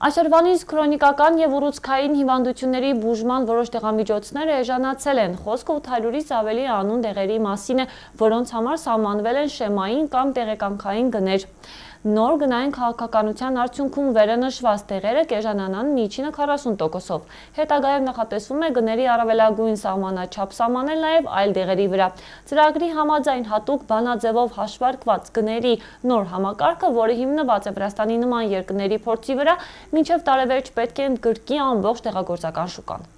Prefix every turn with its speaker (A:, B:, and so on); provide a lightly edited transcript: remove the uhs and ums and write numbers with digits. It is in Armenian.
A: Այսօրվանից քրոնիկական և ուռուցքային հիվանդությունների բուժման որոշ տեղամիջոցներ էժանացել են։ Խոսքը 800-ից ավելի անուն դեղերի մասին է, որոնց համար սահմանվել են շեմային կամ տեղեկանքային գներ։ Նոր գնային քաղաքականության արդյունքում վերանշված դեղերը կեժանանան միջինը 40%-ով։ Հետագայում նախատեսվում է գների առավելագույն սահմանաչափ սահմանել նաև այլ դեղերի վրա։ Ծրագրի համաձայն հատուկ բանաձևով հաշվարկված գների նոր համակարգը, որը հիմնված է Վրաստանի նման երկրների փորձի վրա, մինչև տարեվերջ պետք է ընդգրկի ամբողջ դեղագործական շուկան։